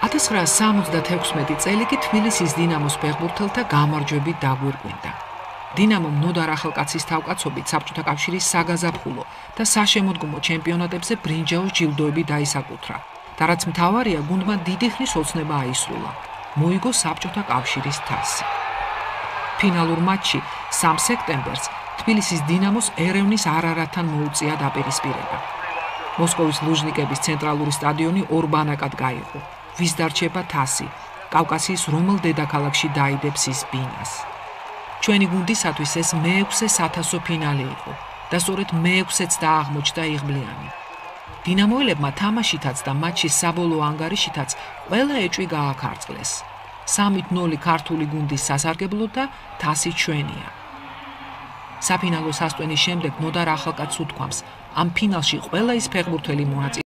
1976 წელი კი თბილისის დინამოს ფეხბურთელთა გამარჯვებით დაგვირგვინდა. დინამომ ნოდარ ახალკაცის თავკაცობით საბჭოთა კავშირის საგაზაფხულო და საშემოდგომო ჩემპიონატებზე ბრინჯაოს ჯილდოები დაისაკუთრა და რაც მთავარია, გუნდმა დიდი ხნის ოცნება აისრულა. მოიგო საბჭოთა კავშირის თასი. ფინალურ მატჩში 3 სექტემბერს თბილისის დინამოს ერევნის არარატთან მოუწია დაპირისპირება. მოსკოვის ლუჟნიკების ცენტრალური სტადიონი ორბანაკად გაიყო. ვის დარჩება თასი, კავკასიის რომელ დედაქალაქში დაიდებს ის ბინას. ჩვენი გუნდისათვის ეს მე-6 საათასო ფინალი იყო და სწორედ მე-6-იც დააღმოჩნდა იღბლიანი. დინამოელებმა თამაშითაც და მატჩის საბოლოო ანგარიშითაც ყველა ეჭვი გააქარწყლეს. 3-0 ქართული გუნდის სასარგებლოდ და თასი ჩვენია. საფინალო სასტვენის შემდეგ ნოდარ ახალკაცს უთქვამს, ამ ფინალში ყველა ის ფეხბურთელი მონაწილეობს,